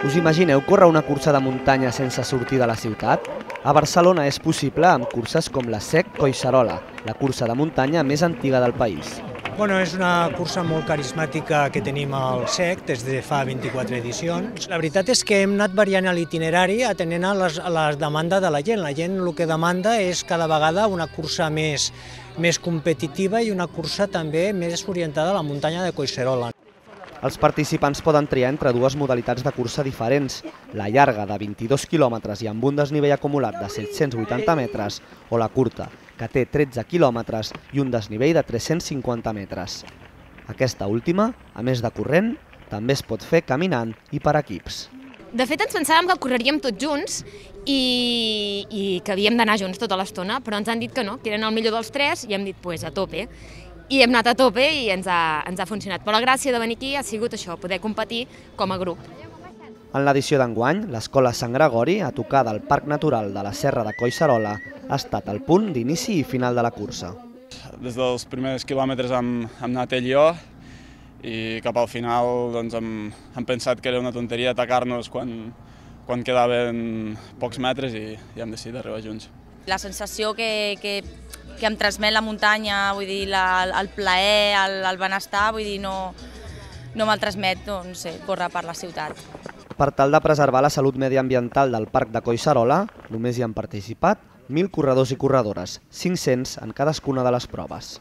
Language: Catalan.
Us imagineu córrer una cursa de muntanya sense sortir de la ciutat? A Barcelona és possible amb curses com la SEC Collserola, la cursa de muntanya més antiga del país. És una cursa molt carismàtica que tenim al SEC des de fa 24 edicions. La veritat és que hem anat variant l'itinerari atenent a la demanda de la gent. La gent el que demanda és cada vegada una cursa més competitiva i una cursa també més orientada a la muntanya de Collserola. Els participants poden triar entre dues modalitats de cursa diferents, la llarga de 22 quilòmetres i amb un desnivell acumulat de 780 metres o la curta, que té 13 quilòmetres i un desnivell de 350 metres. Aquesta última, a més de corrent, també es pot fer caminant i per equips. De fet, ens pensàvem que correríem tots junts i que havíem d'anar junts tota l'estona, però ens han dit que no, que eren el millor dels tres i hem dit, a tope. I hem anat a tope i ens ha funcionat. Però la gràcia de venir aquí ha sigut això, poder competir com a grup. En l'edició d'enguany, l'Escola Sant Gregori, a tocar del Parc Natural de la Serra de Collserola, ha estat el punt d'inici i final de la cursa. Des dels primers quilòmetres hem anat ell i jo, i cap al final hem pensat que era una tonteria atacar-nos quan quedaven pocs metres i hem decidit arribar junts. La sensació que em transmet la muntanya, vull dir, el plaer, el benestar, vull dir, no me'l transmet, no sé, córrer per la ciutat. Per tal de preservar la salut mediambiental del Parc de Collserola, només hi han participat 1.000 corredors i corredores, 500 en cadascuna de les proves.